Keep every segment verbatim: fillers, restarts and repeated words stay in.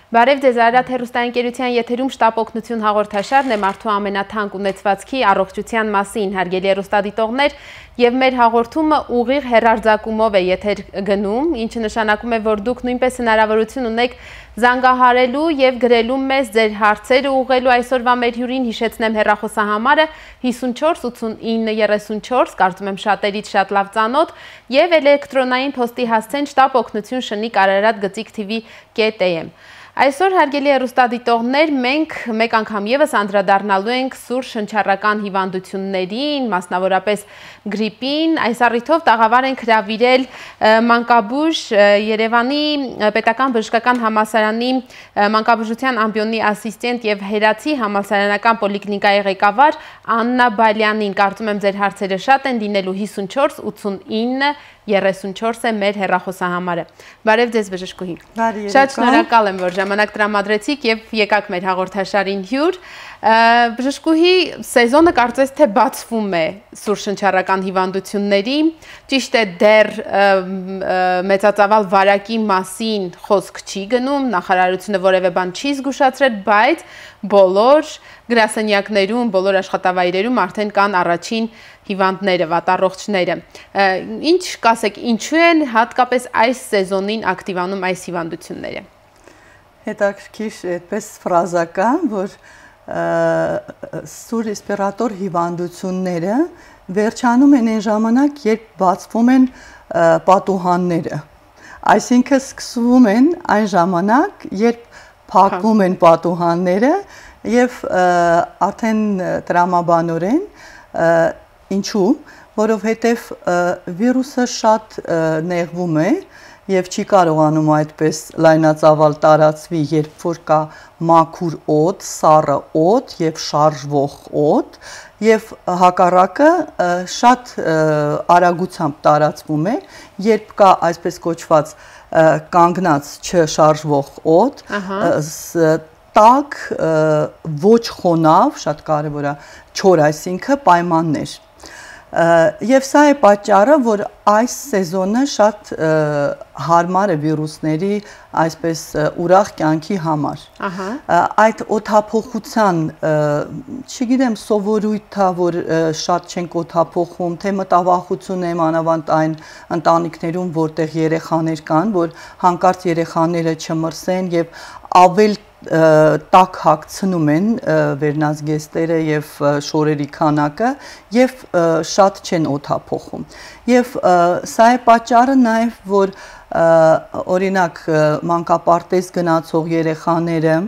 Բարև ձեզ, Արարատ հեռուստաընկերության եթերում շտապ օգնություն հաղորդաշարն է մարդու ամենաթանկ ունեցվածքի առողջության մասին, հարգելի հեռուստադիտողներ, եւ մեր հաղորդումը ուղիղ հեռարձակումով է եթեր գնում, ինչը նշանակում է, որ դուք նույնպես հնարավորություն ունեք զանգահարելու եւ գրելու մեզ ձեր հարցերը ուղղելու այսօրվա մեր հյուրին հիշեցնեմ հեռախոսահամարը հիսունչորս ութսունինը երեսունչորս, կարծում եմ շատերից շատ լավ ծանոթ, եւ էլեկտրոնային փոստի հասցեն շտապ օգնություն շնիկ Արարատ գծիկ թիվի կետ էյ էմ։ Այսօր հարգելի հեռուստադիտողներ, մենք մեկ անգամ եւս անդրադառնալու ենք սուր շնչառական հիվանդություններին, մասնավորապես գրիպին։ Այս առիթով տաղավար ենք հրավիրել Մանկաբույժ Երևանի Պետական բժշկական համալսարանի մանկաբուժության ամբիոնի ասիստենտ եւ Հերացի համալսարանական պոլիկլինիկայի ղեկավար Աննա Բալյանին։ Կարծում եմ ձեր հարցերը շատ են, լինելու հիսունչորս ութսունինը երեսունչորս է մեր հեռախոսահամարը։ Բարև ձեզ բժշկուհի։ Շատ շնորհակալ եմ, որ ժամանակ տրամադրեցիք եւ եկաք մեր հաղորդաշարին հյուր։ Բժշկուհի, սեզոնը կարծես թե բացվում է սուր շնչառական հիվանդությունների, ճիշտ է դեռ մեծածավալ վարակի մասին խոսք չի գնում, նախարարությունը որևէ բան չի զգուշացրել, բայց բոլոր գրասենյակներում, բոլոր աշխատավայրերում արդեն կան առաջին հիվանդները, վատառողջները։ Ինչ կասեք, ինչու են հատկապես այս սեզոնին ակտիվանում այս հիվանդությունները։ Հետաքրքիր այդպես ֆրազական, որ սուր ռեսպիրատոր հիվանդությունները վերջանում են այն ժամանակ, երբ բացվում են պատուհանները։ Այսինքն սկսվում են այն ժամանակ, երբ փակվում են պատուհանները եւ արդեն տրամաբանորեն ինչու, որովհետեւ վիրուսը շատ նեղվում է եւ չի կարողանում այդպես լայնածավալ տարածվի, երբ որ կա մաքուր օդ, սառը օդ եւ շարժվող օդ, եւ հակառակը շատ արագությամբ տարածվում է, երբ կա այսպես կոչված կանգնած չշարժվող օդ, տաք, ոչ խոնավ, շատ կարևոր է, չոր, այսինքն պայմաններ։ Եվ սա է պատճառը, որ այս սեզոնը շատ հարմար է վիրուսների այսպես ուրախ կյանքի համար։ Այդ օդափոխության, չգիտեմ, սովորույթ է, որ շատ չենք օդափոխում, թե մտավախություն է, մանավանդ այն ընտանիքներում, որտեղ երեխաներ կան, որ հանկարծ երեխաները չմրսեն եւ ավել տաք հագցնում են վերնազգեստերը եւ շորերի քանակը եւ շատ չեն օդափոխում։ Եվ սա է պատճառը նաեւ, որ օրինակ մանկապարտեզ գնացող երեխաները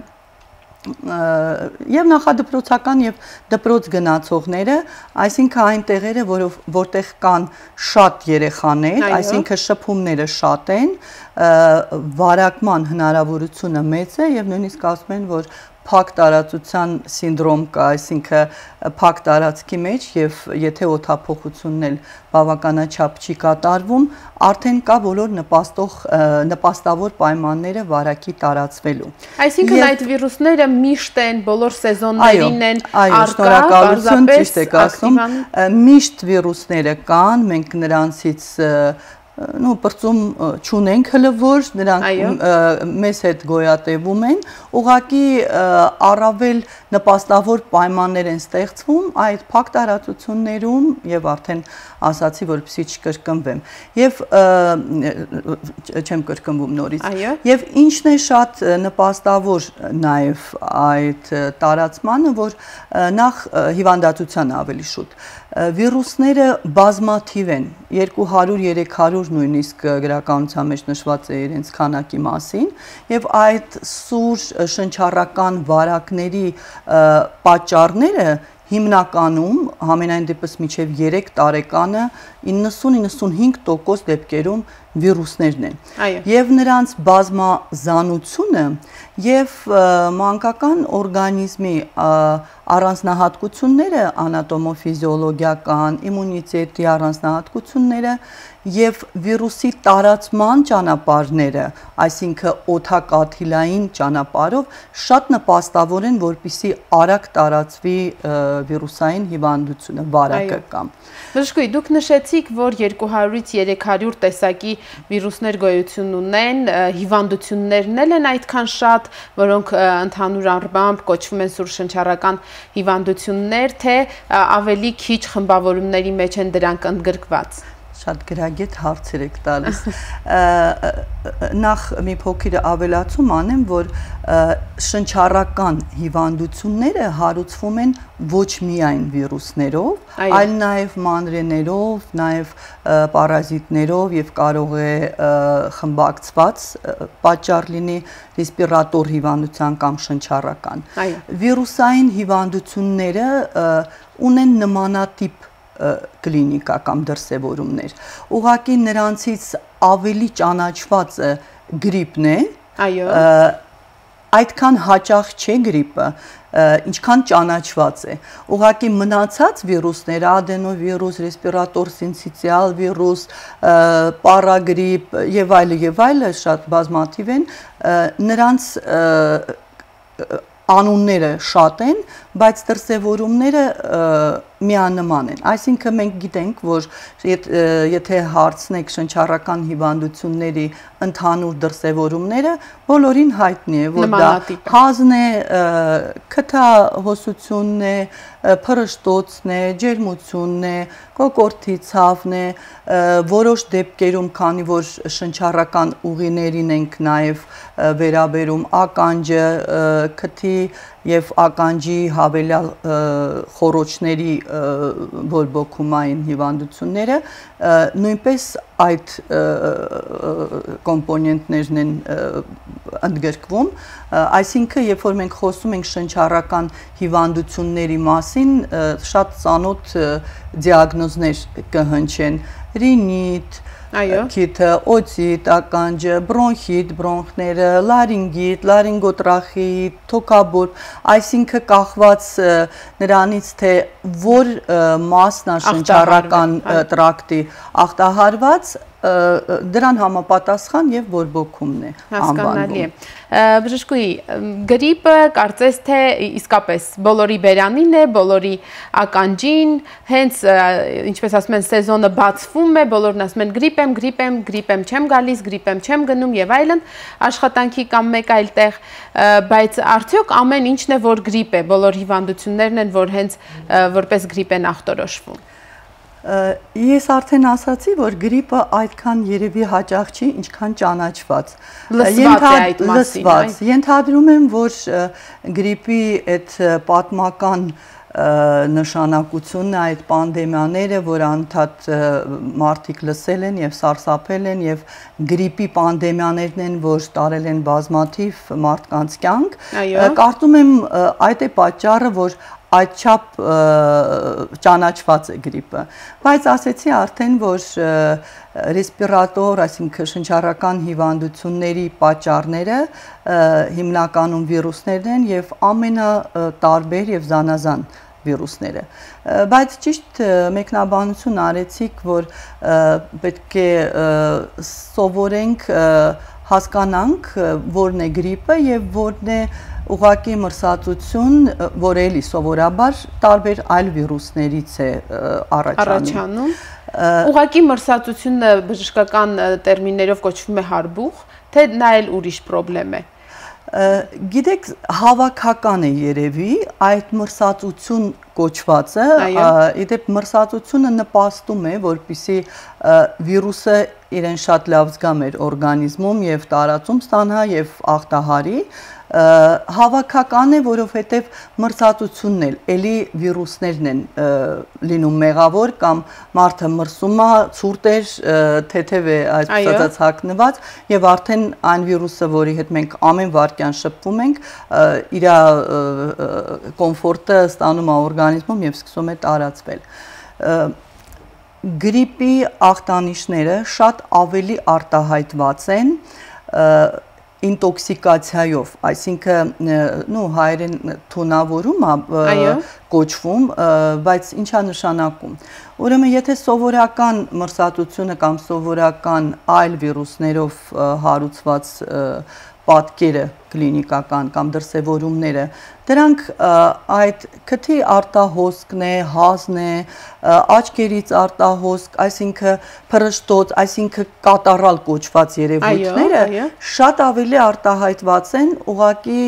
եւ նախադպրոցական եւ դպրոց գնացողները, այսինքն այն տեղերը, որտեղ կան շատ երեխաներ, այսինքն շփումները շատ են, վարակման հնարավորությունը մեծ է եւ նույնիսկ ասում են, որ փակ տարածության սինդրոմ կա, այսինքն փակ տարածքի մեջ եւ եթե օդափոխությունն էլ բավականաչափ չի կատարվում, արդեն կա բոլոր նպաստող նպաստավոր պայմանները վարակի տարածվելու։ Այսինքն այդ վիրուսները միշտ են, բոլոր սեզոններին են առկա, պարզապես ճիշտ եք ասում, միշտ վիրուսները կան, մենք նրանցից նո բրծում չունենք հլը որ նրանք մեզ հետ գոյատևում են, ուղղակի առավել նպաստավոր պայմաններ են ստեղծվում այդ փակ տարածություններում եւ արդեն ասացի, որպեսզի չկրկնվեմ եւ չեմ կրկնվում նորից եւ ինչն է շատ նպաստավոր նաեւ այդ տարածմանը, որ նախ հիվանդացության ավելի շուտ վիրուսները բազմաթիվ են, երկու հարյուր երեք հարյուր նույնիսկ գրականության մեջ նշված է իրենց քանակի մասին եւ այդ սուր շնչառական վարակների պատճառները հիմնականում համենայն դեպս մինչև երեք տարեկանը իննսուն իննսունհինգ տոկոս դեպքերում վիրուսներն են եւ նրանց բազմազանությունը եւ մանկական օրգանիզմի առանձնահատկությունները, անատոմոֆիզիոլոգիական, իմունիտետի առանձնահատկությունները եւ վիրուսի տարածման ճանապարհները, այսինքն օդակաթիլային ճանապարհով շատ նպաստավոր են, որպեսզի արագ տարածվի վիրուսային հիվանդությունը, վարակը կամ։ Բժշկուհի, դուք նշեցիք, որ երկու հարյուրից երեք հարյուր տեսակի վիրուսներ գոյություն ունեն, հիվանդություններն էլ են այդքան շատ, որոնք ընդհանուր առմամբ կոչվում են սուրշնչառական հիվանդություններ, թե ավելի քիչ խմբավորումների մեջ են դրանք ընդգրկված։ Շատ գրագետ հարցեր եք տալիս։ Նախ մի փոքր ավելացում անեմ, որ շնչառական հիվանդությունները հարուցվում են ոչ միայն վիրուսներով, այլ նաև մանրեներով, նաև պարազիտներով եւ կարող է խմբակցված պատճառ լինի ռեսպիրատոր հիվանդության կամ շնչառական։ Վիրուսային հիվանդությունները ունեն նմանատիպ կլինիկա կամ դրսևորումներ։ Ուղղակի նրանցից ավելի ճանաչվածը գրիպն է, այդքան հաճախ չէ գրիպը, ինչքան ճանաչված է։ Ուղղակի մնացած վիրուսները, ադենովիրուս, ռեսպիրատոր սինցիցիալ վիրուս, պարագրիպ եւ այլը եւ այլը շատ բազմաթիվ են, նրանց անունները շատ են, բայց դրսևորումները միանման են։ Այսինքն մենք գիտենք, որ եթե հարցնեք շնչառական հիվանդությունների ընդհանուր դրսևորումները, բոլորին հայտնի է, որ դա հազն է, քթահոսությունն է, փռշտոցն է, ջերմությունն է, կոկորդի ցավն է, որոշ դեպքերում, քանի որ շնչառական ուղիներին ենք նաև վերաբերում ականջը, քթի եւ ականջի հավելյալ խոռոչների բորբոքումային հիվանդությունները նույնպես այդ կոմպոնենտներն են ընդգրկվում, այսինքն երբ որ մենք խոսում ենք շնչառական հիվանդությունների մասին, շատ ծանոթ դիագնոզներ կհնչեն՝ ռինիտ, քիթը, օտիտ, ականջը, բրոնխիտ, բրոնխները, լարինգիտ, լարինգոտրախեիտ, թոքաբոր, այսինքն կախված նրանից, թե որ մասն է շնչառական տրակտի ախտահարված, դրան համապատասխան եւ բորբոքումն է անվանվում։ Բժշկուհի, գրիպը կարծես թե իսկապես բոլորի բերանին է, բոլորի ականջին, հենց ինչպես ասում են, սեզոնը բացվում է, բոլորն ասում են գրիպ եմ, գրիպ եմ, գրիպ եմ չեմ գալիս, գրիպ եմ չեմ գնում եւ այլն, աշխատանքի կամ մեկ այլ տեղ, բայց արդյոք ամեն ինչն է, որ գրիպ է, բոլոր հիվանդություններն են, որ հենց որպես գրիպ են ախտորոշվում։ Ես արդեն ասացի, որ գրիպը այդքան երևի հաճախ չի, ինչքան ճանաչված։ Լսված է այդ մասին։ Ենթադրում եմ, որ գրիպի այդ պատմական նշանակությունն է այդ պանդեմիաները, որ անդադ մարդիկ լսել են եւ սարսափել են եւ գրիպի պանդեմիաներն են, որ տարել են բազմաթիվ մարդկանց կյանք։ Կարծում եմ այդ է պատճառը, որ այդչափ ճանաչված է գրիպը, բայց ասեցի արդեն, որ ռեսպիրատոր, այսինքն շնչառական հիվանդությունների պատճառները հիմնականում վիրուսներն են եւ ամենատարբեր եւ զանազան վիրուսները, բայց ճիշտ մեկնաբանություն արեցիք, որ պետք է սովորենք հասկանանք, որն է գրիպը եւ որն է ուղղակի մրսածություն, որ էլի սովորաբար տարբեր այլ վիրուսներից է առաջանում։ Ուղղակի մրսածությունը բժշկական տերմիններով կոչվում է հարբուխ, թե նա էլ ուրիշ պրոբլեմ է։ Գիտեք, հավաքական է երևի այդ մրսածություն կոչվածը, իդեպ մրսածությունը նպաստում է, որպեսզի վիրուսը իրեն շատ լավ զգա մեր օրգանիզմում եւ տարածում ստանա եւ աղտահարի, հավաքական է, որովհետև մրսածությունն էլ էլի վիրուսներն են լինում մեղավոր կամ մարդը մրսում է, ցուրտ է, թեթև է այսպես հագնված եւ արդեն այն վիրուսը, որի հետ մենք ամեն վարքյան շփվում ենք, իր կոմֆորտը ստանում է օրգանիզմում եւ սկսում է տարածվել։ Գրիպի ախտանիշները շատ ավելի արտահայտված են, ինտոքսիկացիայով, այսինքն նու հայերեն թունավորում է կոչվում, բայց ինչա նշանակում։ Ուրեմն եթե սովորական մրսատությունը կամ սովորական այլ վիրուսներով հարուցված պատկերը կլինիկական կամ դրսևորումները, դրանք այդ քթի արտահոսքն է, հազն է, աչքերից արտահոսք, այսինքն փռշտոց, այսինքն կատարալ կոչված երևույթները շատ ավելի արտահայտված են ուղղակի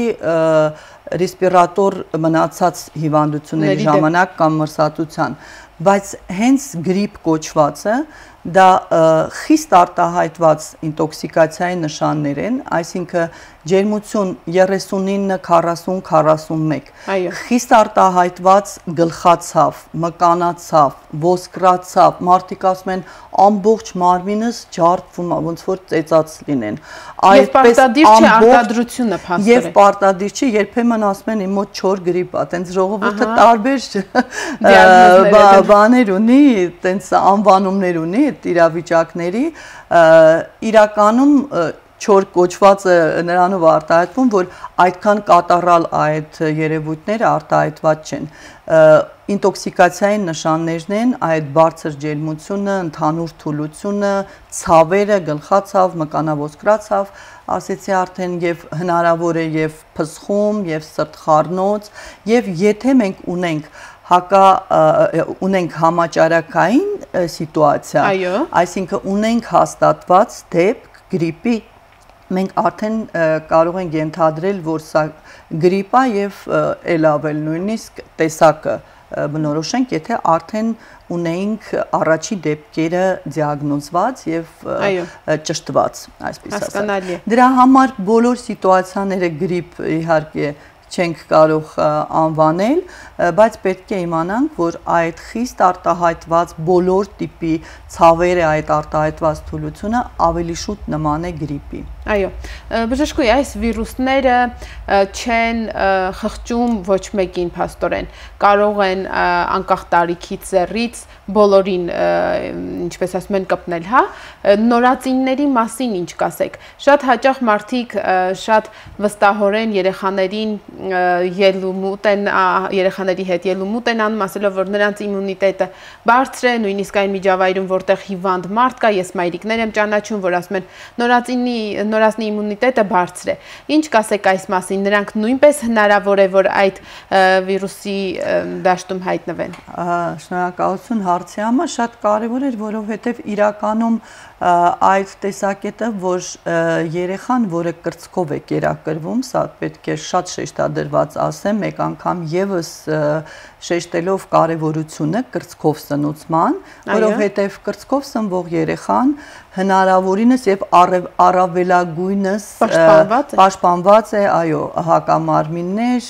ռեսպիրատոր մնացած հիվանդությունների ժամանակ կամ մրսատության, բայց հենց գրիպ կոչվածը դա խիստ արտահայտված ինտոքսիկացիայի նշաններ են, այսինքն ջերմություն երեսունինը քառասուն քառասունմեկ, խիստ արտահայտված գլխացավ, մկանացավ, ոսկրացավ, մարդիկ ասում են ամբողջ մարմինս ջարդվում է, ոնց որ ծեծած լինեն։ Եվ պարտադիր չէ արտադրությունը փաստորեն։ Եվ պարտադիր չէ, երբեմն ասում են իմ մոտ չոր գրիպ է, տենց ժողովուրդը տարբեր բաներ ունի, տենց անվանումներ ունի իրավիճակների, իրականում չոր կոչվածը նրանով արտահայտվում, որ այդքան կատարալ այդ երևույթները արտահայտված չեն։ Ինտոքսիկացիայի նշաններն են այդ բարձր ջերմությունը, ընդհանուր թուլությունը, ցավերը, գլխացավ, մկանավորսկրացավ, ասեցի արդեն եւ հնարավոր է եւ փսխում, եւ սրտխառնոց, եւ եթե մենք ունենք հակա ունենք համաճարակային սիտուացիա, այսինքն ունենք հաստատված դեպք գրիպի, մենք արդեն կարող ենք ենթադրել, որ սա գրիպ է եւ էլ ավել նույնիսկ տեսակը բնորոշենք, եթե արդեն ունենք առաջի դեպքերը դիագնոզված եւ ճշտված, այսպես ասած։ Դրա համար բոլոր սիտուացիաները գրիպ իհարկե չենք կարող անվանել, բայց պետք է իմանանք, որ այդ խիստ արտահայտված բոլոր տիպի ցավերը, այդ արտահայտված թուլությունը ավելի շուտ նման է գրիպի։ Այո, բժշկուհի, այս վիրուսները չեն խղճում ոչ մեկին փաստորեն, կարող են անկախ տարիքից ձեռից բոլորին, ինչպես ասում են, կպնել, հա, նորածինների մասին ինչ կասեք։ Շատ հաճախ մարդիկ շատ վստահորեն երեխաներին ելումուտ են, երեխաների հետ ելումուտ են անում, ասելով, որ նրանց իմունիտետը բարձր է, նույնիսկ այն միջավայրում, որտեղ հիվանդ մարդ կա, ես մայրիկներ եմ ճանաչում, որ ասում են, նորածինի նորածնի իմունիտետը բարձր է։ Ինչ կասեք այս մասին, նրանք նույնպես հնարավոր է, որ այդ վիրուսի դաշտում հայտնվեն։ Շնորհակալություն հարցի համար, շատ կարևոր էր, որովհետև իրականում այդ տեսակետը, որ երեխան, որը կրծքով է կերակրվում, սա պետք է շատ շեշտադրված ասեմ, մեկ անգամ եւս շեշտելով կարևորությունը կրծքով սնուցման, որովհետև կրծքով սնվող երեխան հնարավորինս եւ առավելագույնս պաշտպանված է, այո, հակամարմիններ,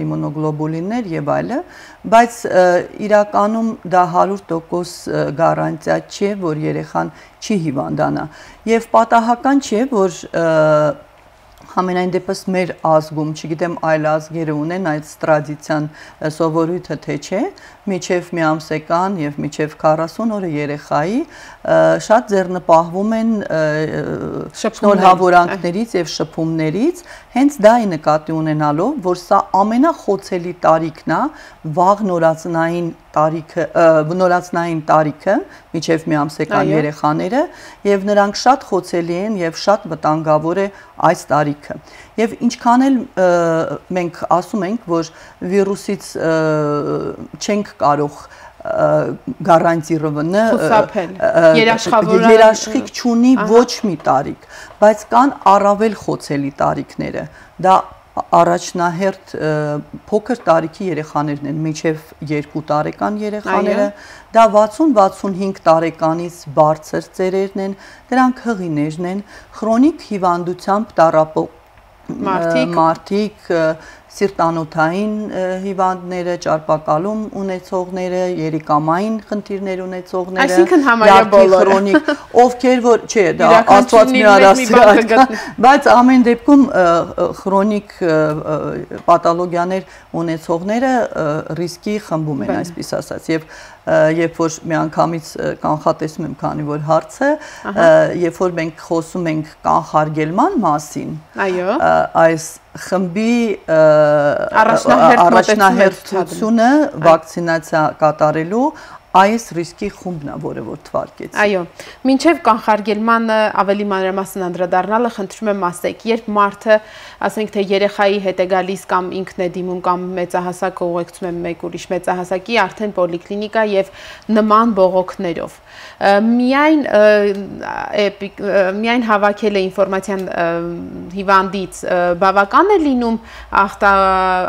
իմունոգլոբուլիններ եւ այլը, բայց իրականում դա հարյուր տոկոս գարանտիա չէ, որ երեխան չի հիվանդանա եւ պատահական չէ, որ Համենայն դեպս մեր ազգում, չգիտեմ այլ ազգերը ունեն այդ տրադիցիան սովորույթը թե չէ, միջև մի ամսեկան եւ միջև քառասուն օրը երեխայի շատ ձեռնպահվում են շնորհավորանքներից եւ շփումներից, հենց դա է նկատի ունենալով, որ սա ամենախոցելի տարիքն է, վաղ նորածնային տարիքը, նորածնային տարիքը, միջև մի ամսեկան երեխաները, եւ նրանք շատ խոցելի են եւ շատ վտանգավոր է այս տարիքը։ Եվ ինչքան էլ մենք ասում ենք, որ վիրուսից չենք կարող գարանտիրովնը երաշխիք չունի ոչ մի տարիք, բայց կան առավել խոցելի տարիքները։ Դա առաջնահերթ փոքր տարիքի երեխաներն են, մինչև երկու տարեկան երեխաները, դա վաթսուն վաթսունհինգ տարեկանից բարձր ծերերն են, դրանք հղիներն են, քրոնիկ հիվանդությամբ տառապող մարդիկ, սիրտանոթային հիվանդները, ճարպակալում ունեցողները, երիկամային խնդիրներ ունեցողները, այսինքն համարյա բոլորը, ովքեր որ, չէ, դա Աստված մի առասի, բայց ամեն դեպքում քրոնիկ պաթոլոգիաներ ունեցողները ռիսկի խմբում են, այսպես ասած, եւ երբ որ միանգամից կանխատեսում եմ, քանի որ հարցը, երբ որ մենք խոսում ենք կանխարգելման մասին, այս խմբի առաջնահերթությունը վակցինացիա կատարելու այս ռիսկի խումբն է, որը որ թվարկեց։ Այո, մինչև կանխարգելմանը ավելի մանրամասն անդրադառնալը խնդրում եմ ասեք, երբ մարդը, ասենք թե երեխայի հետ է գալիս կամ ինքն է դիմում կամ մեծահասակը ուղեկցում է մեկ ուրիշ մեծահասակի արդեն պոլիկլինիկա եւ նման բողոքներով, միայն միայն հավաքել է ինֆորմացիան հիվանդից բավական է լինում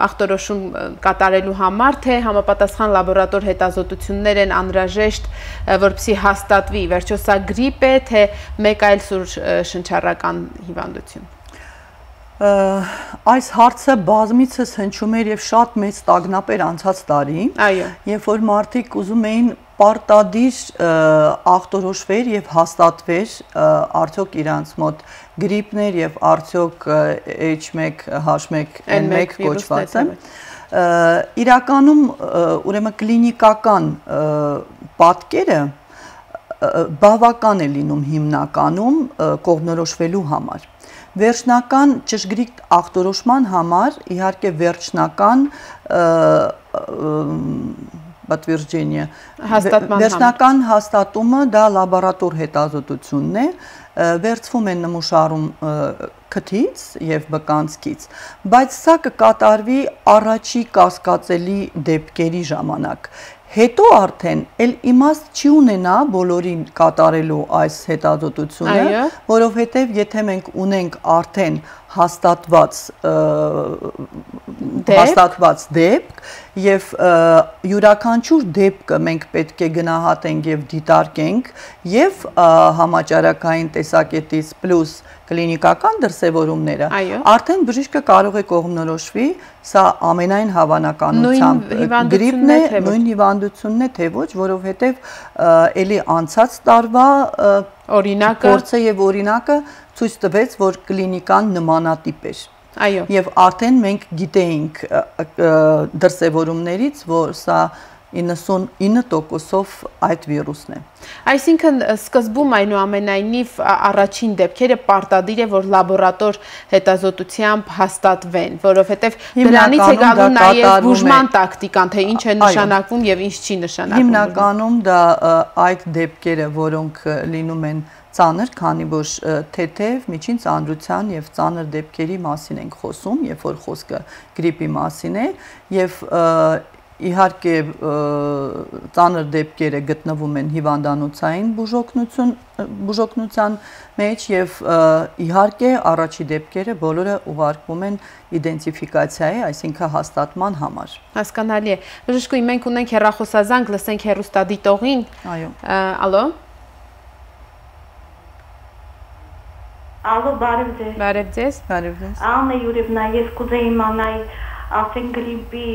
ախտորոշում կատարելու համար, թե համապատասխան լաբորատոր հետազոտություններ են անհրաժեշտ, որպեսզի հաստատվի, վերջո սա գրիպ է, թե մեկ այլ սուր շնչառական հիվանդություն։ Այս հարցը բազմիցս հնչում էր եւ շատ մեծ տագնապ էր անցած տարի, երբ որ մարդիկ ուզում էին պարտադիր ախտորոշվեր եւ հաստատվեր արդյոք իրանց մոտ գրիպներ եւ արդյոք H one H one N one կոչվածը իրականում ուրեմն կլինիկական պատկերը բավական է լինում հիմնականում կողմնորոշվելու համար։ Վերջնական ճշգրիտ ախտորոշման համար իհարկե վերջնական պատվիրջենիը վերջնական հաստատումը դա լաբորատոր հետազոտությունն է, վերցվում են նմուշարում քթից եւ բկանցքից, բայց սա կկատարվի առաջի կասկածելի դեպքերի ժամանակ։ Հետո արդեն էլ իմաստ չի ունենա բոլորին կատարելու այս հետազոտությունը, որովհետև եթե մենք ունենք արդեն հաստատված հաստատված դեպք եւ յուրաքանչյուր դեպքը մենք պետք է գնահատենք եւ դիտարկենք եւ համաճարակային տեսակետից պլյուս կլինիկական դրսևորումները, արդեն բժիշկը կարող է կողմնորոշվի, սա ամենայն հավանականությամբ գրիպն է, նույն հիվանդությունն է, թե ոչ, որովհետև էլի անցած տարվա փորձը եւ օրինակը ցույց տվեց, որ կլինիկան նմանատիպ էր։ Եվ արդեն մենք գիտեինք դրսևորումներից, որ սա իննսունինը տոկոսով այդ վիրուսն է։ Այսինքն սկզբում այնուամենայնիվ առաջին դեպքերը պարտադիր է, որ լաբորատոր հետազոտությամբ հաստատվեն, որովհետև դրանից է գալու նաև բուժման տակտիկան, թե ինչ է նշանակվում եւ ինչ չի նշանակվում։ Հիմնականում դա այդ դեպքերը, որոնք լինում են ծանր, քանի որ թեթև, միջին ծանրության եւ ծանր դեպքերի մասին ենք խոսում, երբ որ խոսքը գրիպի մասին է, եւ իհարկե ծանր դեպքերը գտնվում են հիվանդանոցային բուժօգնության մեջ եւ իհարկե առաջի դեպքերը բոլորը ուղարկվում են իդենտիֆիկացիայի, այսինքն հաստատման համար։ Հասկանալի է։ Բժշկուհի, մենք ունենք հեռախոսազանգ, լսենք հեռուստադիտողին։ Այո։ Ալո։ Ալո, բարև ձեզ։ Բարև ձեզ։ Բարև ձեզ։ Աննա Յուրիևնա, ես կուզեի իմանալ ասեն գրիպի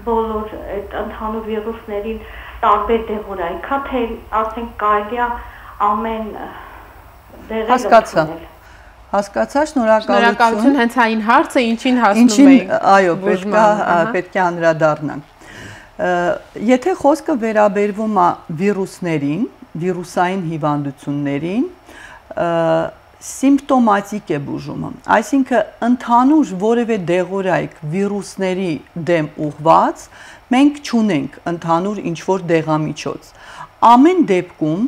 բոլոր այդ ընդհանուր վիրուսներին տարբեր դեղորայք, քա թե ասենք կարելի է ամեն դեղերը հասկացա։ Հասկացա, շնորհակալություն։ Շնորհակալություն, հենց այն հարցը ինչին հասնում էինք։ Այո, պետք է պետք է անդրադառնանք։ Եթե խոսքը վերաբերվում է վիրուսներին, վիրուսային հիվանդություններին, սիմպտոմատիկ է բուժումը, այսինքն ընդհանուր որևէ դեղորայք վիրուսների դեմ ուղված մենք չունենք ընդհանուր ինչ-որ դեղամիջոց։ Ամեն դեպքում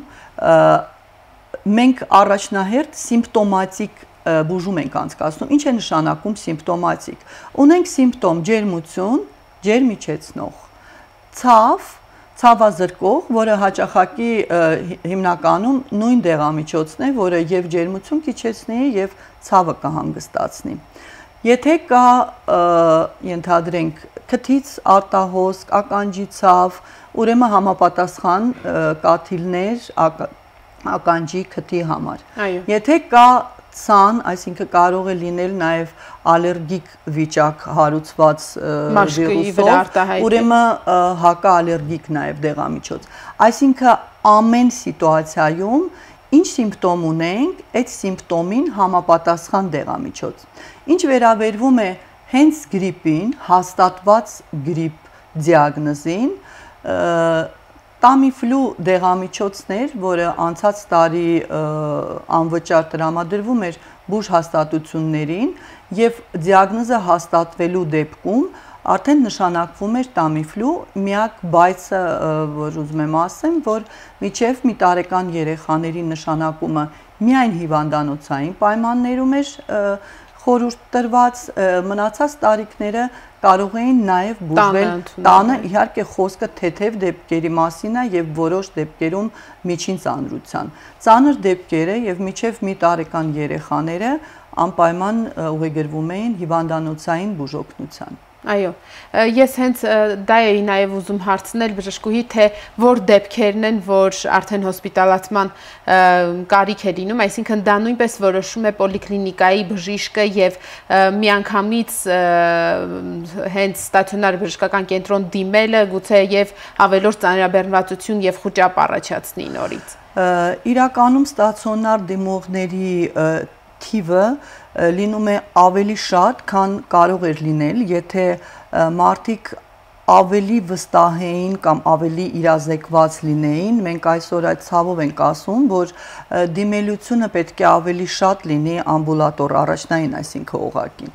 մենք առաջնահերթ սիմպտոմատիկ բուժում ենք անցկացնում։ Ինչ է նշանակում սիմպտոմատիկ։ Ունենք սիմպտոմ ջերմություն, ջերմիջեցնող, ցավ, ցավազրկող, որը հաճախակի հիմնականում նույն դեղամիջոցն է, որը եւ ջերմություն կիջեցնի եւ ցավը կհանգստացնի։ Եթե կա ենթադրենք քթից արտահոսք, ականջի ցավ, ուրեմն համապատասխան կաթիլներ ականջի քթի համար։ Եթե կա ցան, այսինքն կարող է լինել նաև ալերգիկ վիճակ հարուցված վիրուսով, ուրեմն հակաալերգիկ նաև դեղամիջոց։ Այսինքն ամեն սիտուացիայում ինչ սիմպտոմ ունենք, այդ սիմպտոմին համապատասխան դեղամիջոց։ Ինչ վերաբերվում է հենց գրիպին, հաստատված գրիպ դիագնոզին, Tamiflu դեղամիջոցներ, որը անցած տարի անվճար տրամադրվում էր բուժ հաստատություններին եւ դիագնոզը հաստատվելու դեպքում արդեն նշանակվում էր Tamiflu, միակ բայցը, որ ուզում եմ ասեմ, որ միջև մի տարեկան երեխաների նշանակումը միայն հիվանդանոցային պայմաններում էր խորհուրդ տրված, մնացած տարիքները կարող էին նաև բուժվել տանը, իհարկե խոսքը թեթև դեպքերի մասին է եւ որոշ դեպքերում միջին ծանրության։ Ծանր դեպքերը եւ միջև մի տարեկան երեխաները անպայման ուղեգրվում էին հիվանդանոցային բուժօգնության։ Այո, ես հենց դա էի նաև ուզում հարցնել բժշկուհի, թե որ դեպքերն են, որ արդեն հոսպիտալացման կարիք է լինում, այսինքն դա նույնպես որոշում է պոլիկլինիկայի բժիշկը եւ միանգամից հենց ստացիոնար բժշկական կենտրոն դիմելը գուցե եւ ավելորդ ծանրաբեռնվածություն եւ խուճապ առաջացնի նորից։ Իրականում ստացիոնար դիմողների թիվը լինում է ավելի շատ, քան կարող էր լինել, եթե մարդիկ ավելի վստահ էին կամ ավելի իրազեկված լինեին, մենք այսօր այդ ցավով ենք ասում, որ դիմելությունը պետք է ավելի շատ լինի ամբուլատոր առաջնային, այսինքն օղակի։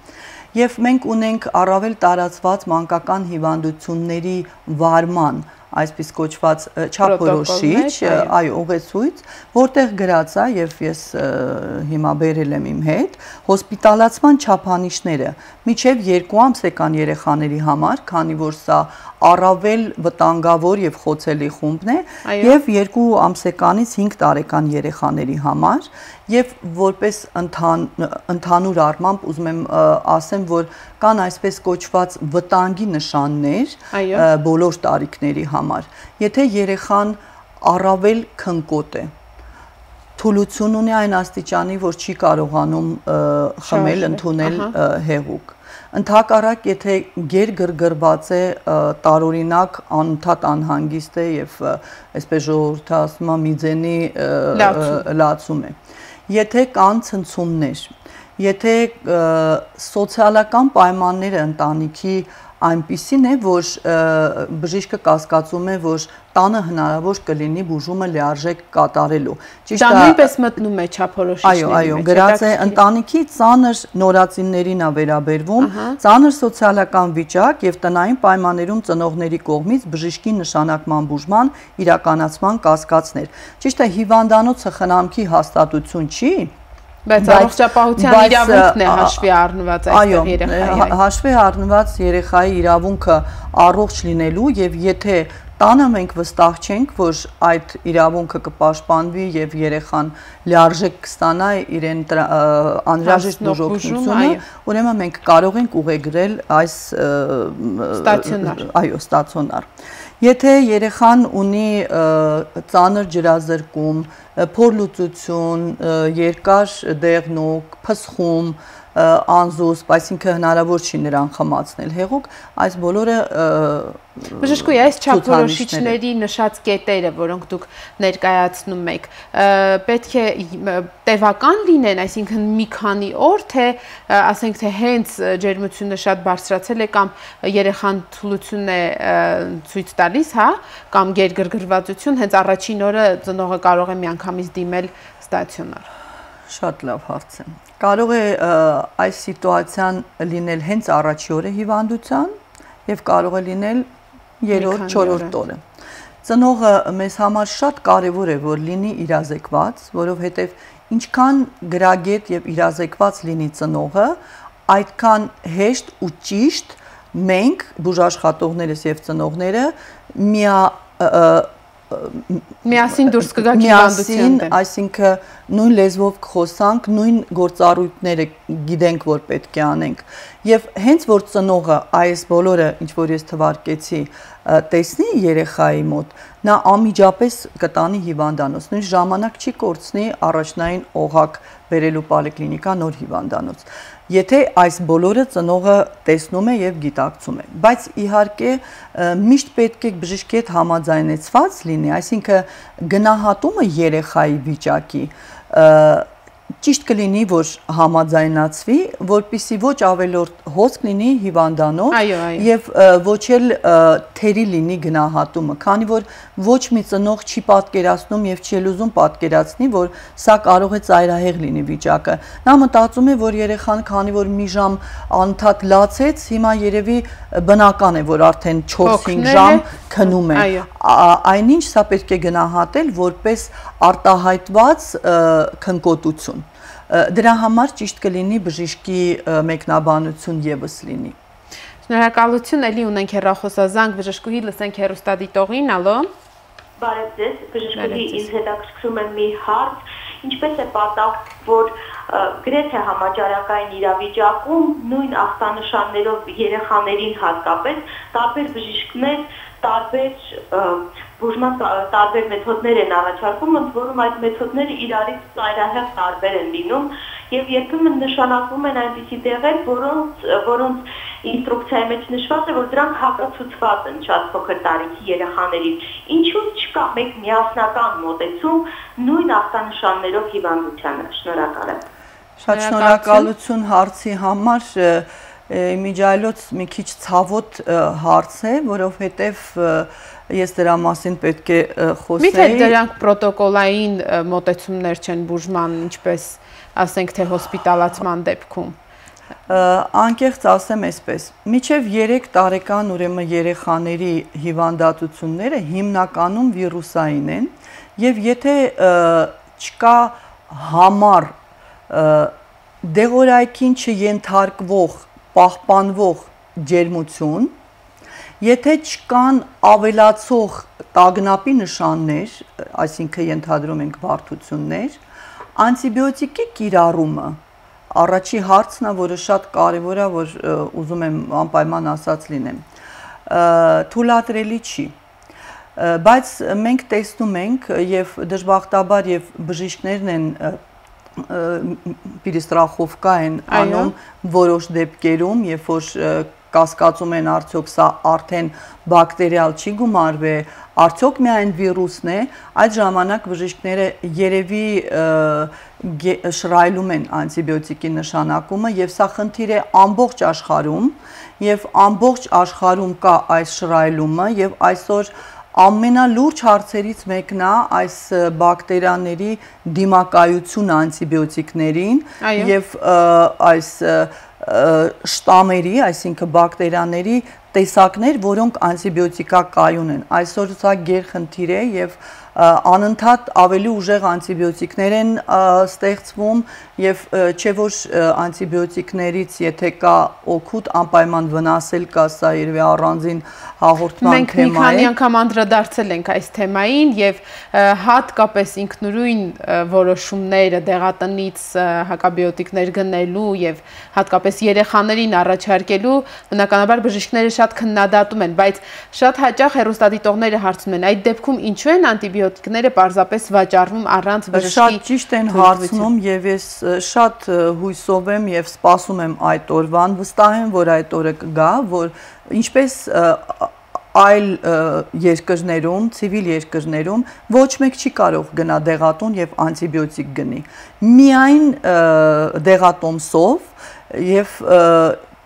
Եվ մենք ունենք առավել տարածված մանկական հիվանդությունների վարման այսպես կոչված չափորոշիչ, այո, ուղեցույց, որտեղ գրած է եւ ես հիմա բերել եմ իմ հետ, հոսպիտալացման չափանիշները միջև երկու ամսեկան երեխաների համար, քանի որ սա առավել վտանգավոր եւ խոցելի խումբն է, եւ երկու ամսեկանից հինգ տարեկան երեխաների համար, եւ որպես ընդհանուր առմամբ ուզում եմ ասեմ, որ կան այսպես կոչված վտանգի նշաններ բոլոր տարիքների համար։ Եթե երեխան առավել քնկոտ է, թուլություն ունի այն աստիճանի, որ չի կարողանում խմել, ընդունել հեղուկ։ Ընդհակառակ, եթե գերգրգռված է, տարօրինակ անընդհատ անհանգիստ է եւ այսպես ժողովուրդը ասում է միձենի լացում է։ Եթե կան ցնցումներ, եթե սոցիալական պայմանները ընտանիքի այնպիսին է, որ բժիշկը կասկածում է, որ տանը հնարավոր կլինի բուժումը լիարժեք կատարելու։ Դա նույնպես մտնում է չափորոշիչների մեջ։ Այո, այո, գրած է ընտանիքի ծանր նորածիններին է վերաբերվում, ծանր սոցիալական վիճակ եւ տնային պայմաններում ծնողների կողմից բժշկի նշանակման բուժման իրականացման կասկածներ։ Ճիշտ է, հիվանդանոցը խնամքի հաստատություն չի, բայց առողջապահության իրավունքն է հաշվի առնված այստեղ երեխայի։ Այո, հաշվի առնված երեխայի իրավունքը առողջ լինելու եւ եթե տանը մենք վստահ չենք, որ այդ իրավունքը կպաշտպանվի եւ երեխան լիարժեք կստանա իրեն անհրաժեշտ բուժօգնությունը, ուրեմն մենք կարող ենք ուղեգրել այս ստացիոնար։ Այո, ստացիոնար։ Եթե երեխան ունի ծանր ջրազրկում, փորլուծություն, երկար դեղնուկ, փսխում, անզուսպ, այսինքն հնարավոր չի նրան խմացնել հեղուկ, այս բոլորը բժշկուհի, այս չափորոշիչների նշած կետերը, որոնք դուք ներկայացնում եք, պետք է տևական լինեն, այսինքն մի քանի օր, թե ասենք թե հենց ջերմությունը շատ բարձրացել է կամ երեխան թուլություն է ցույց տալիս, հա, կամ գերգրգռվածություն, հենց առաջին օրը ծնողը կարող է միանգամից դիմել ստացիոնար։ Շատ լավ հարց է։ Կարող է այս սիտուացիան լինել հենց առաջի օրը հիվանդության եւ կարող է լինել երրորդ, չորրորդ օրը։ Ծնողը մեզ համար շատ կարեւոր է, որ լինի իրազեկված, որովհետեւ ինչքան գրագետ եւ իրազեկված լինի ծնողը, այդքան հեշտ ու ճիշտ մենք բուժաշխատողներս եւ ծնողները միա միասին դուրս կգաք հիվանդության դեմ։ Այսինքն նույն լեզվով կխոսանք, նույն գործառույթները գիտենք, որ պետք է անենք։ Եվ հենց որ ծնողը այս բոլորը, ինչ որ ես թվարկեցի, տեսնի երեխայի մոտ, նա անմիջապես կտանի հիվանդանոց, նույնիսկ ժամանակ չի կորցնի առաջնային օղակ բերելու պոլիկլինիկա նոր հիվանդանոց։ Եթե այս բոլորը ծնողը տեսնում է եւ գիտակցում է, բայց իհարկե միշտ պետք է բժշկի հետ համաձայնեցված լինի, այսինքն գնահատումը երեխայի վիճակի ճիշտ կլինի, որ համաձայնացվի, որպեսզի ոչ ավելորդ հոսք լինի հիվանդանոց եւ ոչ էլ թերի լինի գնահատումը, քանի որ ոչ մի ծնող չի պատկերացնում եւ չի ուզում պատկերացնի, որ սա կարող է ծայրահեղ լինի վիճակը։ Նա մտածում է, որ երեխան, քանի որ մի ժամ անընդհատ լացեց, հիմա երևի բնական է, որ արդեն չորս-հինգ ժամ քնում է։ Այնինչ սա պետք է գնահատել որպես արտահայտված քնկոտություն։ Դրա համար ճիշտ կլինի բժշկի մեկնաբանություն եւս լինի։ Շնորհակալություն, էլի ունենք հեռախոսազանգ, բժշկուհի, լսենք հեռուստադիտողին, ալո։ Բարև ձեզ, բժշկուհի, ինձ հետաքրքրում է մի հարց, ինչպես է պատահ, որ գրեթե համաճարակային իրավիճակում նույն ախտանշաններով երեխաներին հատկապես տարբեր բժիշկներ տարբեր բուժման տարբեր մեթոդներ են առաջարկում, ընդ որում այդ մեթոդները իրարից ծայրահեղ տարբեր են լինում եւ երբեմն նշանակվում են այնպիսի դեղեր, որոնց որոնց ինստրուկցիայի մեջ նշված է, որ դրանք հակացուցված են շատ փոքր տարիքի երեխաներին։ Ինչու՞ չկա մեկ միասնական մոտեցում նույն ախտանշաններով հիվանդությանը։ Շնորհակալ եմ։ Շատ շնորհակալություն հարցի համար։ Իմիջիայլոց մի քիչ ցավոտ հարց է, որովհետև ես դրա մասին պետք է խոսեի։ Միթե դրանք պրոտոկոլային մոտեցումներ չեն բուժման, ինչպես ասենք թե հոսպիտալացման դեպքում։ Անկեղծ ասեմ այսպես, մինչև երեք տարեկան ուրեմն երեխաների հիվանդատությունները հիմնականում վիրուսային են, եւ եթե չկա համառ դեղորայքին չենթարկվող պահպանվող ջերմություն, եթե չկան ավելացող տագնապի նշաններ, այսինքն ենթադրում ենք բարդություններ, անտիբիոտիկի կիրառումը, առաջի հարցն է, որը շատ կարևոր է, որ ուզում եմ անպայման ասած լինեմ, թույլատրելի չի, բայց մենք տեսնում ենք եւ դժբախտաբար եւ բժիշկներն են պիրիստրախովկա են անում որոշ դեպքերում, երբ որ կասկածում են արդյոք սա արդեն բակտերիալ չի գումարվե, արդյոք միայն վիրուսն է, այդ ժամանակ բժիշկները երևի շռայլում են անտիբիոտիկի նշանակումը եւ սա խնդիր է ամբողջ աշխարհում եւ ամբողջ աշխարհում կա այս շռայլումը եւ այսօր ամենալուրջ հարցերից մեկն է այս բակտերիաների դիմակայությունը անտիբիոտիկներին եւ այս շտամերի, այսինքն բակտերիաների տեսակներ, որոնք անտիբիոտիկակայուն են։ Այսօր սա գերխնդիր է եւ անընդհատ ավելի ուժեղ անտիբիոտիկներ են ստեղծվում եւ չէ որ անտիբիոտիկներից եթե կա օգուտ անպայման վնասել կա, սա երևի առանձին հաղորդման թեմա է։ Մենք մի քանի անգամ անդրադարձել ենք այս թեմային եւ հատկապես ինքնուրույն որոշումները դեղատնից հակաբիոտիկներ գնելու եւ հատկապես երեխաներին առաջարկելու բնականաբար բժիշկները շատ քննադատում են, բայց շատ հաճախ հեռուստադիտողները հարցնում են, այդ դեպքում ինչու են անտիբիոտիկները պարզապես վաճառվում առանց բժշկի։ Շատ ճիշտ են հարցնում եւ ես շատ հույսով եմ եւ սպասում եմ այդ օրվան, վստահ եմ, որ այդ օրը կգա, որ ինչպես այլ երկրներում, ցիվիլ երկրներում ոչ մեկ չի կարող գնա դեղատուն եւ անտիբիոտիկ գնի։ Միայն դեղատոմսով եւ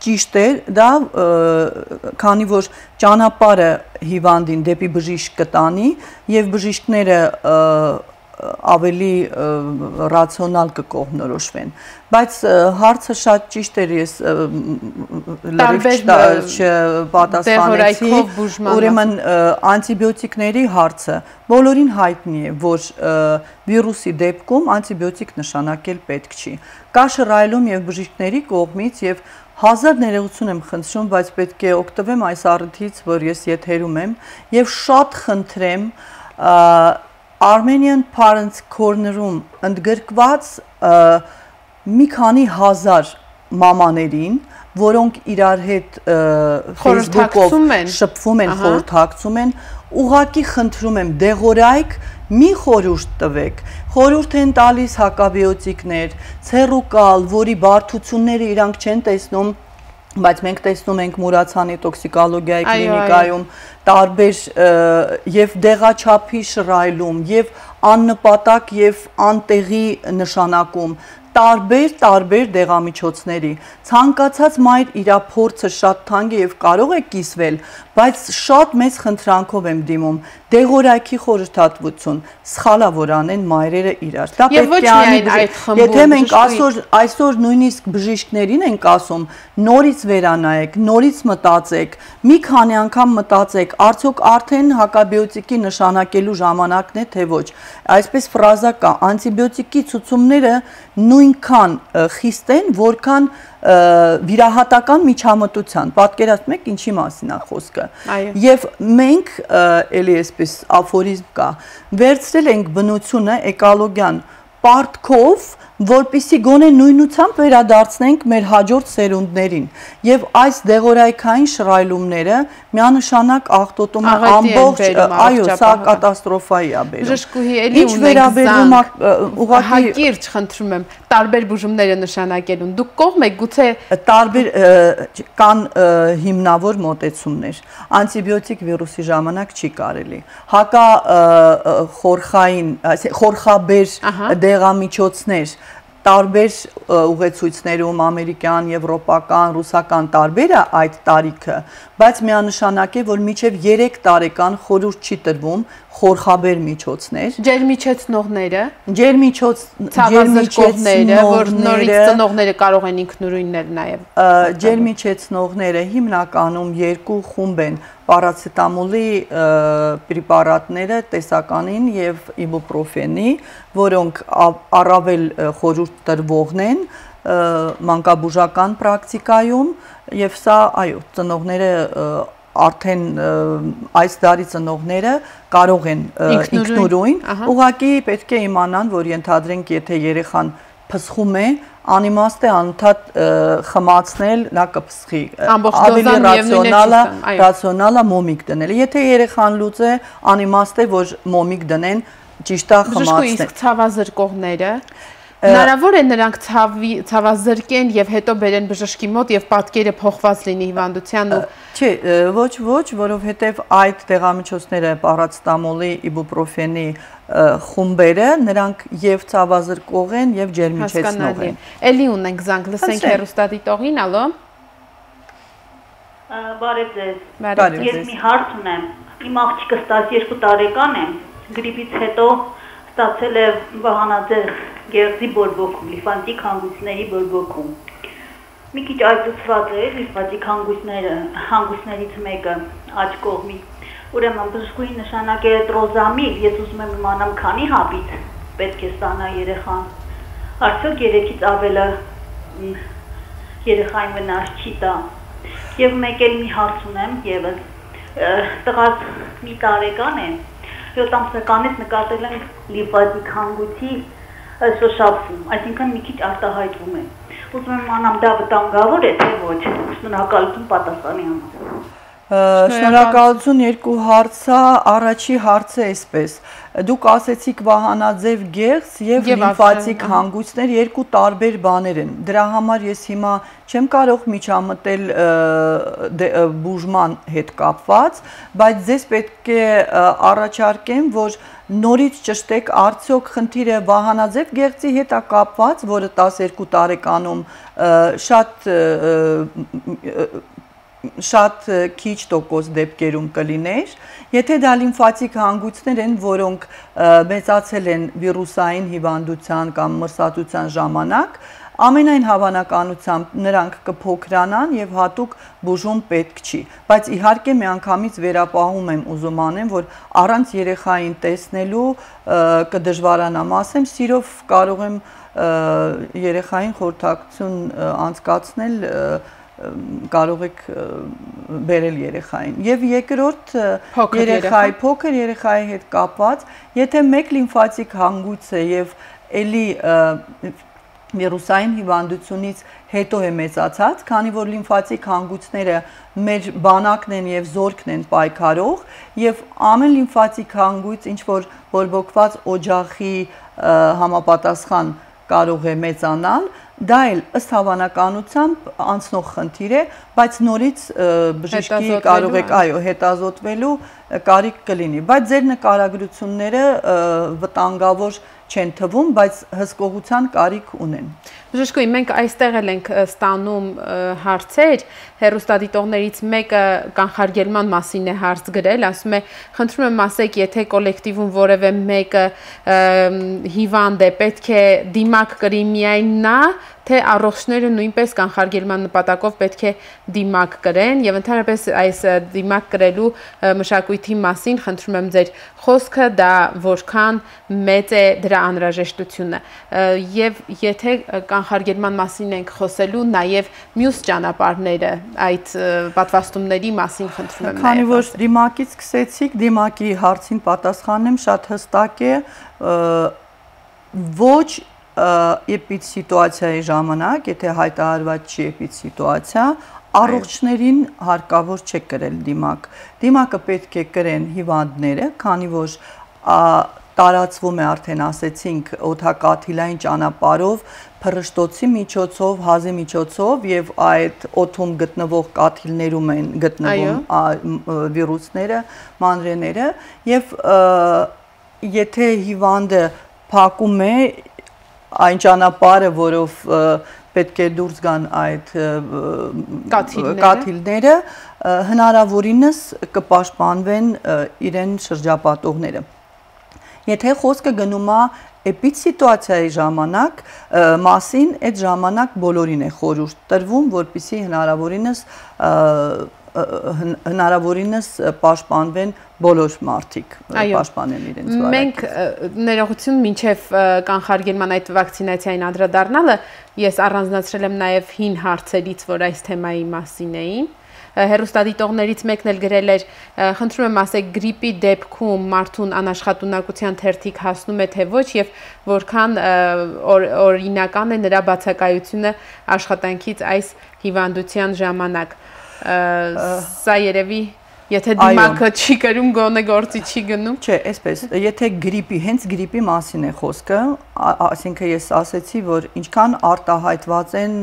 ճիշտ է դա, քանի որ ճանապարհը հիվանդին դեպի բժիշկ կտանի եւ բժիշկները ավելի ռացիոնալ կկողմնորոշվեն, բայց հարցը շատ ճիշտ էր, ես լրիվ չպատասխանեցի, ուրեմն անտիբիոտիկների հարցը բոլորին հայտնի է, որ վիրուսի դեպքում անտիբիոտիկ նշանակել պետք չի։ Կա շռայլում եւ բժիշկների կողմից եւ հազար ներողություն եմ խնդրում, բայց պետք է օգտվեմ այս առիթից, որ ես եթերում եմ եւ շատ խնդրեմ Armenian Parents Corner-ում ընդգրկված մի քանի հազար մամաներին, որոնք իրար հետ Facebook-ով շփվում են, խորհրդակցում են, ուղղակի խնդրում եմ դեղորայք մի խորհուրդ տվեք, խորհուրդ են տալիս հակաբիոտիկներ, ցերուկալ, որի բարդությունները իրանք չեն տեսնում, բայց մենք տեսնում ենք Մուրացյանի տոքսիկոլոգիայի կլինիկայում տարբեր եւ դեղաչափի շռայլում եւ աննպատակ եւ անտեղի նշանակում տարբեր տարբեր դեղամիջոցների ցանկացած մայր իր փորձը շատ թանկ է եւ կարող է կիսվել, բայց շատ մեծ խնդրանքով եմ դիմում դեղորայքի խորհրդատվություն, սխալա որ անեն մայրերը իրար։ Դա պետք է անեն, եթե մենք այսօր այսօր նույնիսկ բժիշկներին ենք ասում, նորից վերանայեք, նորից մտածեք, մի քանի անգամ մտածեք, արդյոք արդեն հակաբիոտիկի նշանակելու ժամանակն է թե ոչ։ Այսպես ֆրազա կա, անտիբիոտիկի ցուցումները նույնքան խիստ են, որքան վիրահատական միջամտության, պատկերացնում եք ինչի մասին է խոսքը։ Եվ մենք, էլի այսպես աֆորիզմ կա, վերցրել ենք բնությունը էկոլոգիան պարտքով, որպեսզի գոնե նույնությամբ վերադարձնենք մեր հաջորդ սերունդներին եւ այս դեղորայքային շռայլումները միանշանակ աղտոտում է ամբողջ, այո, սա կատաստրոֆայի է բերում։ Բժշկուհի էլի ունենք ուղղակի հակիրճ խնդրում եմ տարբեր բուժումները նշանակելուն։ Դուք կողմ եք գուցե տարբեր կան հիմնավոր մոտեցումներ։ Անտիբիոտիկ վիրուսի ժամանակ չի կարելի։ Հակա խորխային, խորխաբեր դեղամիջոցներ տարբեր ուղեցույցներում ամերիկյան, եվրոպական, ռուսական տարբերը այդ տարիքը, բայց միանշանակ է, որ մինչև երեք տարեկան խորհուրդ չի տրվում խորխաբեր միջոցներ։ Ջերմիջեցնողները, ջերմիջոց ցավազրկողները, որ նորից ծնողները կարող են ինքնուրույններ նաև։ Ջերմիջեցնողները հիմնականում երկու խումբ են՝ պարացետամոլի պրեպարատները տեսականին եւ իբուպրոֆենի, որոնք առավել խորհուրդ տրվողն են մանկաբուժական պրակտիկայում եւ սա, այո, ծնողները արդեն այս դարի ծնողները կարող են ինքնուրույն, ուղղակի պետք է իմանան, որ ենթադրենք, եթե երեխան փսխում է, անիմաստ է անընդհատ խմացնել, նա կփսխի, ավելի ռացիոնալը, ռացիոնալը մոմիկ դնել։ Եթե երեխան լուծ է, անիմաստ է, որ մոմիկ դնեն, ճիշտ է խմացնել։ Իսկ ցավազրկողները հնարավոր է նրանք ցավազրկեն եւ հետո բերեն բժշկի մոտ եւ պատկերը փոխված լինի հիվանդության ու Չէ, ոչ, ոչ, որովհետեւ այդ դեղամիջոցները պարացետամոլի, իբուպրոֆենի խումբերը, նրանք եւ ցավազրկող են եւ ջերմիջեցնող են։ Էլի ունենք զանգ, լսենք հեռուստադիտողին, ալո։ Բարև ձեզ։ Ես մի հարց ունեմ։ Իմ աղջիկը տասներկու տարեկան է, գրիպից հետո ստացել է վահանաձև գեղձի բորբոքում, լիմֆատիկ հանգույցների բորբոքում։ Մի քիչ այծուցված է լիմֆատիկ հանգույցները, հանգույցներից մեկը աջ կողմի։ Ուրեմն բժշկուհի նշանակել է տրոզամիլ, ես ուզում եմ իմանամ քանի հապից պետք է ստանա երեխան։ Արդյոք երեքից ավելը երեխային վնաս չի տա։ Եվ մեկ էլ մի հարց ունեմ եւս։ Տղաս մի տարեկան է, յոթ ամսականից նկատել եմ լիմֆատիկ հանգույցի շոշափում, այսինքն մի քիչ արտահայտվում է։ Ուզում եմ իմանամ դա վտանգավոր է, թե ոչ։ Շնորհակալություն պատասխանի համար։ Շնորհակալություն, երկու հարցա, առաջի հարցը այսպես։ Դուք ասեցիք վահանաձև գեղձ եւ լիմֆատիկ հանգույցներ երկու տարբեր բաներ են։ Դրա համար ես հիմա չեմ կարող միջամտել բուժման հետ կապված, բայց ձեզ պետք է առաջարկեմ, որ նորից ճշտեք, արդյոք խնդիրը վահանաձև գեղձի հետ է կապված, որը տասներկու տարեկանում շատ շատ քիչ տոկոս դեպքերում կլիներ, եթե դա լիմֆատիկ հանգույցներ են, որոնք մեծացել են վիրուսային հիվանդության կամ մրսածության ժամանակ, ամենայն հավանականությամբ նրանք կփոքրանան եւ հատուկ բուժում պետք չի, բայց իհարկե միանգամից վերապահում եմ ուզում անեմ, որ առանց երեխային տեսնելու կդժվարանամ, ասեմ, սիրով կարող եմ երեխային խորհրդակցություն անցկացնել, կարող եք բերել երեխային եւ երկրորդ երեխայի փոքր երեխայի հետ կապված եթե մեկ լիմֆատիկ հանգույց է եւ էլի վիրուսային հիվանդությունից հետո է մեծացած, քանի որ լիմֆատիկ հանգույցները մեր բանակն են եւ զորքն են պայքարող եւ ամեն լիմֆատիկ հանգույց ինչ որ բորբոքված օջախի համապատասխան կարող է մեծանալ, դա էլ ըստ հավանականությամբ անցնող խնդիր է, բայց նորից բժշկի կարող եք այո հետազոտվելու կարիք կլինի, բայց ձեր նկարագրությունները վտանգավոր չեն թվում, բայց հսկողության կարիք ունեն։ Բժշկուհի, մենք այստեղ էլ ենք ստանում հարցեր, հեռուստադիտողներից մեկը կանխարգելման մասին է հարց գրել, ասում է, խնդրում եմ ասեք, եթե կոլեկտիվում որևէ մեկը հիվանդ է, պետք է դիմակ կրի միայն նա, թե առողջները նույնպես կանխարգելման նպատակով պետք է դիմակ կրեն եւ ընդհանրապես այս դիմակ կրելու մշակույթի մասին խնդրում եմ ձեր խոսքը, դա որքան մեծ է դրա անհրաժեշտությունը եւ եթե կանխարգելման մասին ենք խոսելու նաեւ մյուս ճանապարհները այդ պատվաստումների մասին խնդրում եմ։ Քանի որ դիմակից սկսեցիք, դիմակի հարցին պատասխանեմ շատ հստակ է, ոչ էպիդսիտուացիայի ժամանակ, եթե հայտարարված չի էպիդսիտուացիա, առողջներին հարկավոր չէ կրել դիմակ։ Դիմակը պետք է կրեն հիվանդները, քանի որ տարածվում է արդեն ասեցինք օդակաթիլային ճանապարհով, փռշտոցի միջոցով, հազի միջոցով եւ այդ օդում գտնվող կաթիլներում են գտնվում վիրուսները, մանրեները եւ եթե հիվանդը փակում է այն ճանապարհը, որով պետք է դուրս գան այդ կաթիլները, հնարավորինս կպաշտպանվեն իրեն շրջապատողները։ Եթե խոսքը գնում է էպիդսիտուացիայի ժամանակ մասին, այդ ժամանակ բոլորին է խորհուրդ տրվում, որպեսզի հնարավորինս հնարավորինս պաշտպանվեն բոլոր մարդիկ, պաշտպանեն իրենց վարակից։ Մենք ներողություն մինչև կանխարգելման այդ վակցինացիային անդրադառնալը, ես առանձնացրել եմ նաև հին հարցերից, որ այս թեմայի մասին էին։ Հեռուստադիտողներից մեկն էլ գրել էր, խնդրում եմ ասեք, գրիպի դեպքում մարդուն անաշխատունակության թերթիկ հասնում է թե ոչ եւ որքան օրինական է նրա բացակայությունը աշխատանքից այս հիվանդության ժամանակ։ Սա երևի եթե դիմակը չի կրում, գոնե գործի չի գնում։ Չէ, այսպես, եթե գրիպի, հենց գրիպի մասին է խոսքը, այսինքն ես ասեցի, որ ինչքան արտահայտված են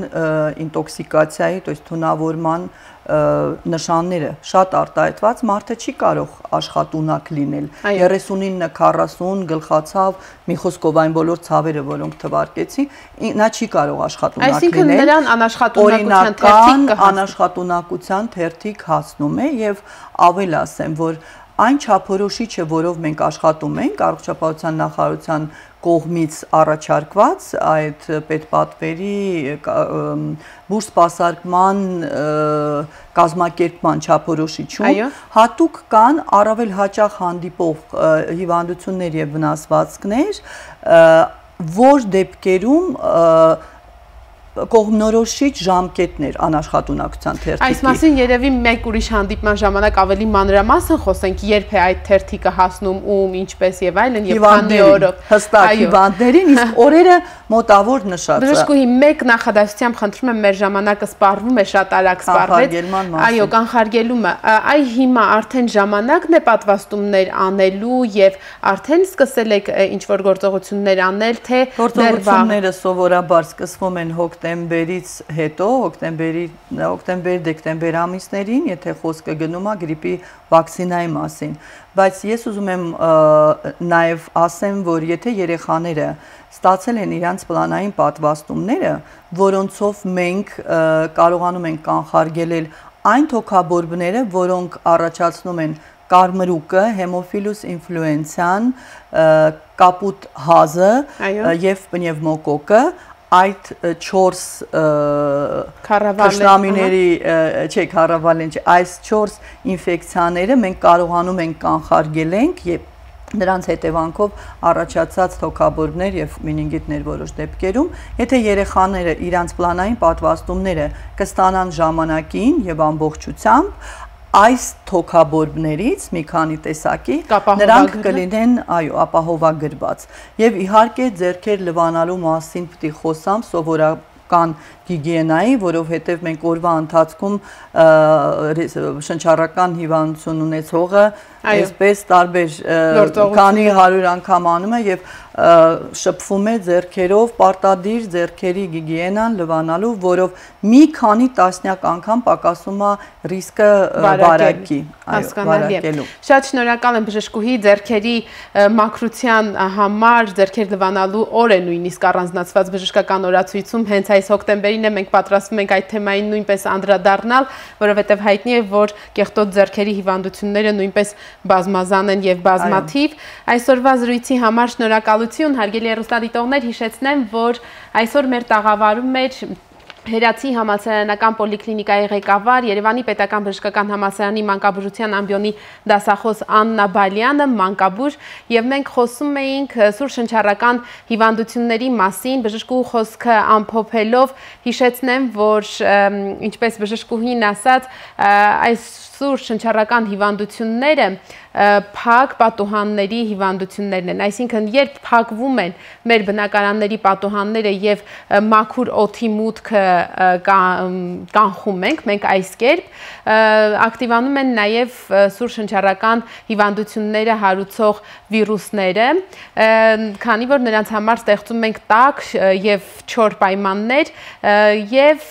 ինտոքսիկացիայի, то есть թունավորման նշանները շատ արտահայտված, մարդը չի կարող աշխատունակ լինել։ երեսունինը քառասուն գլխացավ, մի խոսքով այն բոլոր ցավերը, որոնք թվարկեցի, նա չի կարող աշխատունակ լինել։ Այսինքն նրան անաշխատունակության թերթիկ անաշխատունակության թերթիկ հասնում է եւ ավել ասեմ, որ այն չափորոշիչը, որով մենք աշխատում ենք, առողջապահության նախարարության կողմից առաջարկված այդ պետպատվերի բուրս սպասարկման կազմակերպման չափորոշիչում հատուկ կան առավել հաճախ հանդիպող հիվանդություններ եւ վնասվածքներ, որ դեպքերում կողմնորոշիչ ժամկետներ անաշխատունակության թերթիկի։ Այս մասին երևի մեկ ուրիշ հանդիպման ժամանակ ավելի մանրամասն խոսենք, երբ է այդ թերթիկը հասնում ում, ինչպես եւ այլն եւ քանի օրով։ Հստակ հիվանդներին, իսկ օրերը մոտավոր նշած։ Բժշկուհի, մեկ նախադասությամբ խնդրում եմ, մեր ժամանակը սպառվում է, շատ արագ սպառվեց։ Այո, կանխարգելումը, այ հիմա արդեն ժամանակն է պատվաստումներ անելու եւ արդեն սկսել եք ինչ որ գործողություններ անել, թե գործողությունները սովորաբար սկսվում են հոկտեմբերից հետո, հոկտեմբերի, հոկտեմբեր-դեկտեմբեր ամիսներին, եթե խոսքը գնում է գրիպի վակցինայի մասին, բայց ես ուզում եմ նաև ասեմ, որ եթե երեխաները ստացել են իրանց պլանային պատվաստումները, որոնցով մենք կարողանում ենք կանխարգելել այն թոքաբորբները, որոնք առաջացնում են կարմրուկը, հեմոֆիլուս ինֆլուենցիան, կապուտ հազը եւ պնևմոկոկը, այդ չորս թշնամիների, չէ, քառավալեն չէ, այս չորս ինֆեկցիաները մենք կարողանում ենք կանխարգելենք եւ նրանց հետևանքով առաջացած թոքաբորբներ եւ մենինգիտներ որոշ դեպքերում, եթե երեխաները իրանց պլանային պատվաստումները կստանան ժամանակին եւ ամբողջությամբ, այս թոքաբորբներից մի քանի տեսակի նրանք կլինեն, այո, ապահովագրված։ Եվ իհարկե ձեռքեր լվանալու մասին պիտի խոսամ սովորական հիգիենայի, որովհետև մենք օրվա ընթացքում շնչառական հիվանդություն ունեցողը այսպես տարբեր քանի հարյուր անգամ անում է եւ շփվում է ձեռքերով, պարտադիր ձեռքերի հիգիենան լվանալու, որով մի քանի տասնյակ անգամ պակասում է ռիսկը վարակի, վարակելու։ Շատ շնորհակալ եմ բժշկուհի, ձեռքերի մաքրության համար ձեռքեր լվանալու օրը նույնիսկ առանձնացված բժշկական օրացույցում հենց այս հոկտեմբերին է մենք պատրաստվում ենք այդ թեմային նույնպես անդրադառնալ, որովհետև հայտնի է, որ կեղտոտ ձեռքերի հիվանդությունները նույնպես բազմազան են եւ բազմաթիվ։ Այսօրվա զրույցի համար շնորհակալություն, հարգելի հեռուստադիտողներ, հիշեցնեմ, որ այսօր մեր տաղավարում էր Հերացի համալսարանական պոլիկլինիկայի ղեկավար, Երևանի պետական բժշկական համալսարանի մանկաբուժության ամբիոնի դասախոս Աննա Բալյանը, մանկաբույժ, եւ մենք խոսում էինք սուր շնչառական հիվանդությունների մասին, բժշկուհու խոսքը ամփոփելով, հիշեցնեմ, որ ինչպես բժշկուհին ասաց, այս սուր շնչառական հիվանդությունները փակ պատուհանների հիվանդություններն են, այսինքն երբ փակվում են մեր բնակարանների պատուհանները եւ մաքուր օդի մուտքը կանխում ենք, մենք այս կերպ ակտիվանում են նաեւ սուր շնչառական հիվանդությունները հարուցող վիրուսները, քանի որ նրանց համար ստեղծում ենք տաք եւ չոր պայմաններ եւ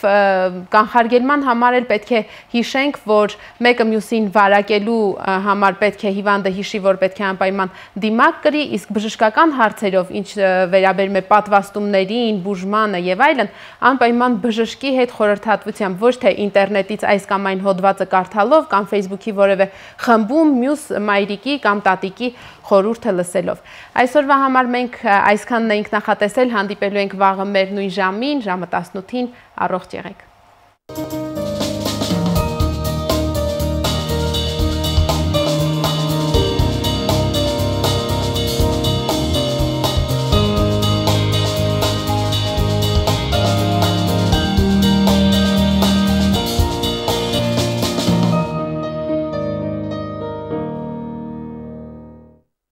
կանխարգելման համար էլ պետք է հիշենք, որ մեկը մյուսին վարակելու համար պետք է հիվանդը հիշի, որ պետք է անպայման դիմակ կրի, իսկ բժշկական հարցերով, ինչ վերաբերում է պատվաստումներին, բուժմանը եւ այլն, անպայման բժշկի հետ խորհրդատվությամբ, ոչ թե ինտերնետից այս կամ այն հոդվածը կարդալով կամ Facebook-ի որևէ խմբում մյուս մայրիկի կամ տատիկի խորհուրդը լսելով։ Այսօրվա համար մենք այսքանն էինք նախատեսել, հանդիպելու ենք վաղը մեր նույն ժամին, ժամը տասնութին, առողջ եղեք։